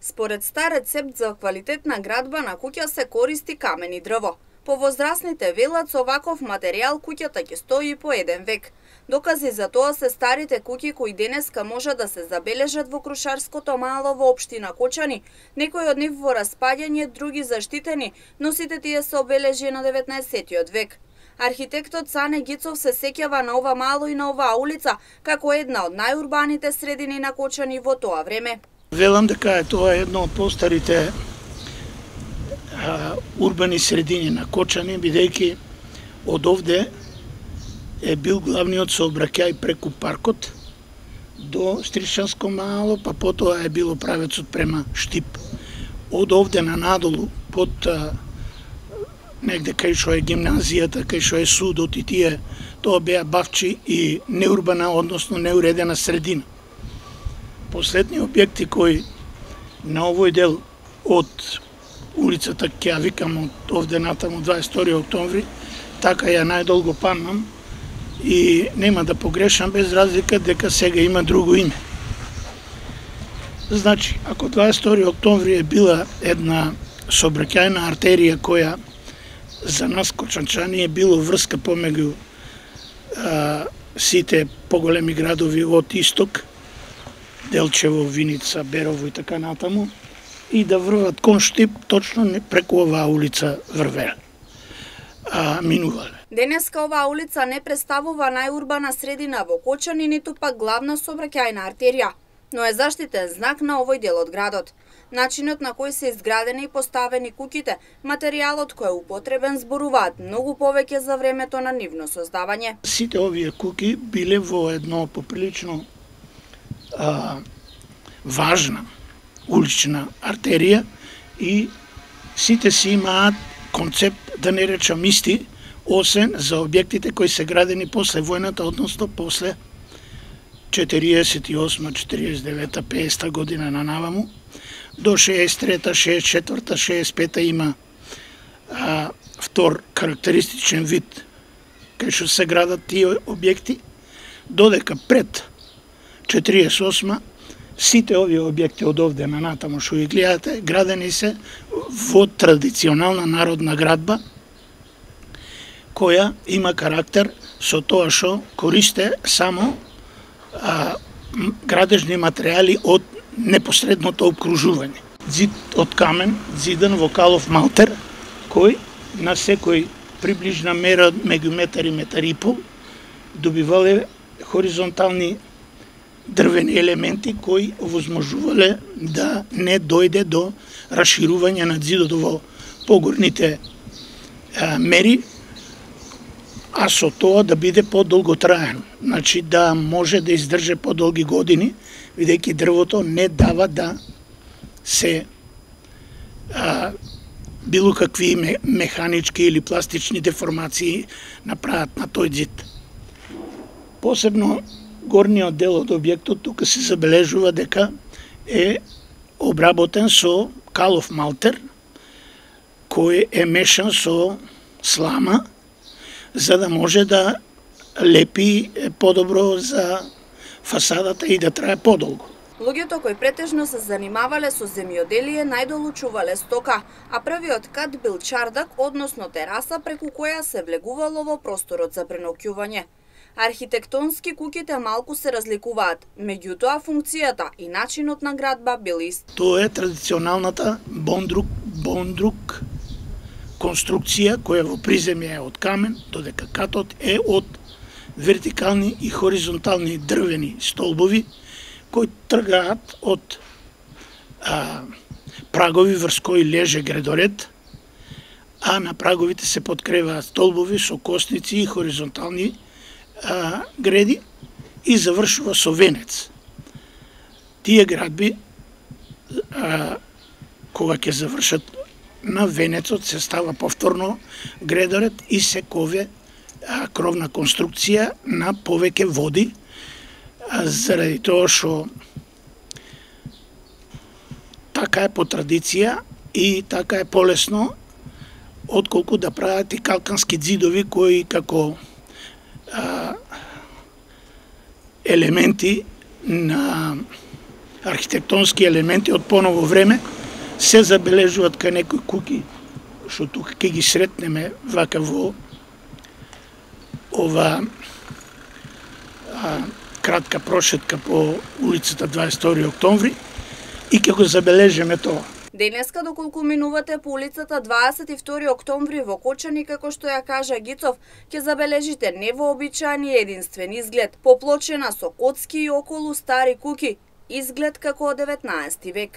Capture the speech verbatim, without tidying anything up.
Според стар рецепт за квалитетна градба на куќа се користи камен и дрво. Повозрастните велат со ваков материјал куќата ќе стои по еден век. Докази за тоа се старите куќи кои денеска може да се забележат во Крушарското мало во општина Кочани, некои од нив во распаѓање, други заштитени, но сите тие се обележи на деветнаесеттиот век. Архитектот Цане Гицов се сеќава на ова мало и на оваа улица како една од најурбаните средини на Кочани во тоа време. Велам дека е тоа едно од постарите а, урбани средини на Кочани, бидејќи од овде е бил главниот сообраќај преку паркот до Стришанско мало, па потоа е било правецот према Штип. Од овде на надолу, под а, негде кај што е гимназијата, кај што е судот и тие, тоа беа бавчи и неурбана, односно неуредена средина. Последни објекти кои на овој дел од улицата, ќе ја викам од овде натаму дваесет и втори октомври, така ја најдолго памнам и нема да погрешам без разлика дека сега има друго име. Значи, ако дваесет и втори октомври е била една сообраќајна артерија која за нас кочанчани е било врска помеѓу а, сите поголеми градови од исток, Делчево, Виница, Берово и така натаму, и да врват кон Штип, точно преку оваа улица врвеле, а минувале. Денеска оваа улица не представува најурбана средина во Кочани, ниту пак главна сообраќајна артерија, но е заштитен знак на овој дел од градот. Начинот на кој се изградени и поставени куќите, материјалот кој е употребен зборуваат многу повеќе за времето на нивно создавање. Сите овие куќи биле во едно поприлично а, важна улична артерија и сите си имаат концепт, да не речам исти, освен за објектите кои се градени после војната, односно после четириесет и осма, четириесет и девета, петдесета година на наваму, до шеесет и трета, шеесет и четврта, шеесет и пета има а, втор карактеристичен вид кај што се градат тие објекти, додека пред четириесет и осма сите овие објекти од овде на натаму што ги гледате, градени се во традиционална народна градба, која има карактер со тоа што користе само а, градежни материјали од непосредното обкружување. Зид од камен, зидан во калов малтер, кој на секој приближна мера меѓу метар и метар и пол добивале хоризонтални дрвени елементи кои овозможувале да не дојде до расширување на зидот во погорните а, мери, а со тоа да биде подолготраен, значи да може да издржи подолги години, бидејќи дрвото не дава да се а, било какви механички или пластични деформации направат на тој зид. Посебно горниот дел од објектот тука се забележува дека е обработен со калов малтер, кој е мешан со слама, за да може да лепи подобро за фасадата и да трае подолго. Луѓето кои претежно се занимавале со земјоделие најдолучувале стока, а првиот кат бил чардак, односно тераса преку која се влегувало во просторот за преноќување. Архитектонски куќите малку се разликуваат, меѓутоа функцијата и начинот на градба бил ист. Тоа е традиционалната бондрук, бондрук конструкција која во приземје е од камен, додека катот е од вертикални и хоризонтални дрвени столбови кои тргаат од а, прагови врз кои леже гредоред, а на праговите се подкреваат столбови со косници и хоризонтални а, греди и завршува со венец. Тие градби, а, кога ќе завршат на венецот, се става повторно гредоред и се кове а, кровна конструкција на повеќе води, а, заради тоа што така е по традиција и така е полесно отколку да прават и калкански ѕидови кои како а, елементи на архитектонски елементи од поново време се забележуваат кај некои куќи, што тука ќе ги сретнеме вака во ова а, кратка прошетка по улицата дваесет и втори октомври и ќе го забележиме тоа. Денеска, доколку минувате по улицата дваесет и втори октомври во Кочани, како што ја кажа Гицов, ќе забележите невообичаен и единствен изглед, поплочена со коцки и околу стари куќи, изглед како од деветнаесети век.